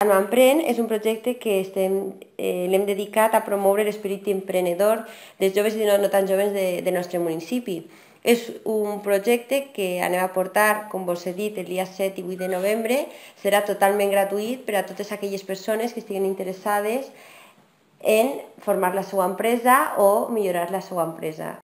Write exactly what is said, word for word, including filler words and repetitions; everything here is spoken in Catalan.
Anoemprèn és un projecte que estem, eh, l'hem dedicat a promoure l'esperit emprenedor dels joves i no, no tan joves de, del nostre municipi. És un projecte que anem a portar, com vos he dit, el dia set i vuit de novembre. Serà totalment gratuït per a totes aquelles persones que estiguin interessades en formar la seva empresa o millorar la seva empresa.